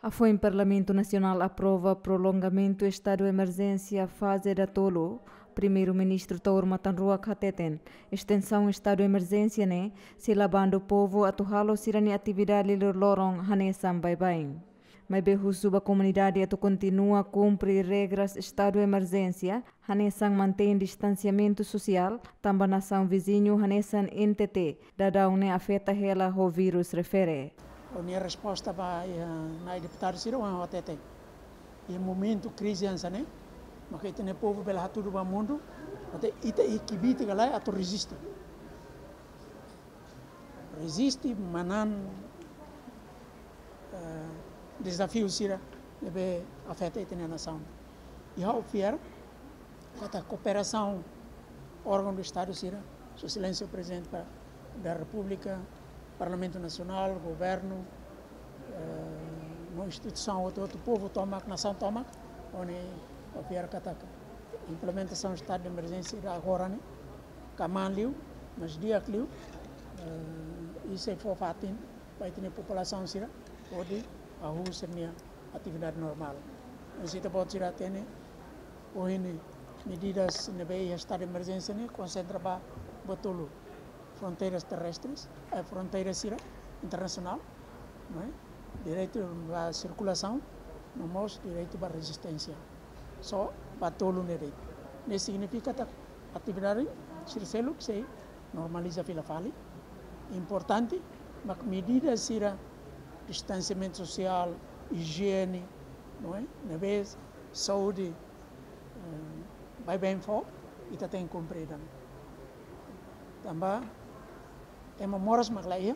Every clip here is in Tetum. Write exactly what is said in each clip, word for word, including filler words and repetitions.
Afoin Parlamentu Nasionál aprova prolongamentu estadu emerjénsia faze datolu, Primeiru-Ministru Taur Matan Ruak hateten, estensaun estadu emerjénsia ne'e sei la bandu povu atu halo sira-nia atividade loroloron hanesan baibain. Maibé husu ba komunidade atu kontinua kumpre regras estadu emerjénsia, hanesan mantein distansiamentu sosiál, tanba nasaun viziñu hanesan N T T, daudaun ne'e afeta hela ho vírus refere. Ha'u-nia resposta ba, eh, na'i deputadu sira ohin hateten. Iha momentu krize hanesan ne'e, maka ita-nia povu bele hatudu ba mundu, atu ita iha kbiit ka lae atu reziste. Reziste, manán, eh, dezafiu sira ne'ebé afeta ita-nia nasaun. I ha'u fiar katak kooperasaun órgaun do Estadu sira, Sua Exelénsia Prezidente pa-, da Repúblika, Parlamentu Nasionál, governu, eh, no instituisaun hotu-hotu, povu tomak, nasaun tomak, ha'u-nia fiar katak implementasaun estadu de emerjénsia agora ne'e, kmaan liu, mas di'ak liu, eh, i sei fó fatin ba ita-nia populasaun sira hodi hahú sira-nia atividade normál. Mas ita-boot sira hatene, ohin ne'e medidas ne'ebé iha estadu de emerjénsia ne'e konsentra ba buat tolu: fronteiras terrestres, eh, fronteira sira internasionál, não é? Direitu ba sirkulasaun, no mós direitu ba rezisténsia. Só ba tolu ne'e de'it. Ne'e signifika katak atividade sira seluk sei normaliza fila fali. Importante, mak medida sira distansiamentu sosiál, ijiene, não é? Ne'ebé saúde, eh, baibain fó, ita tenke kumpre ida-ne'e. Tanba ema moras mak la iha,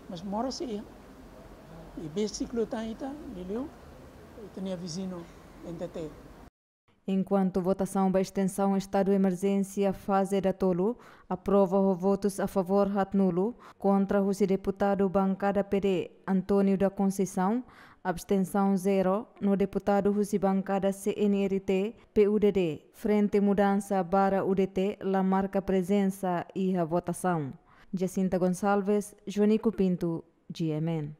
mas moras sei iha. I besik liután ita, liuliu ita-nia viziñu N T T. Enkuantu votasaun ba estensaun estadu emerjénsia faze datolu aprova ho votus a favór haatnulu, kontra husi deputadu bankada P D, António da Conceição, abstensaun zero, no deputadu husi bankada C N R T, P U D D, Frente Mudansa barra U D T, la marka prezensa iha votasaun. Jacinta Gonçalves, Joanico Pinto, G M N.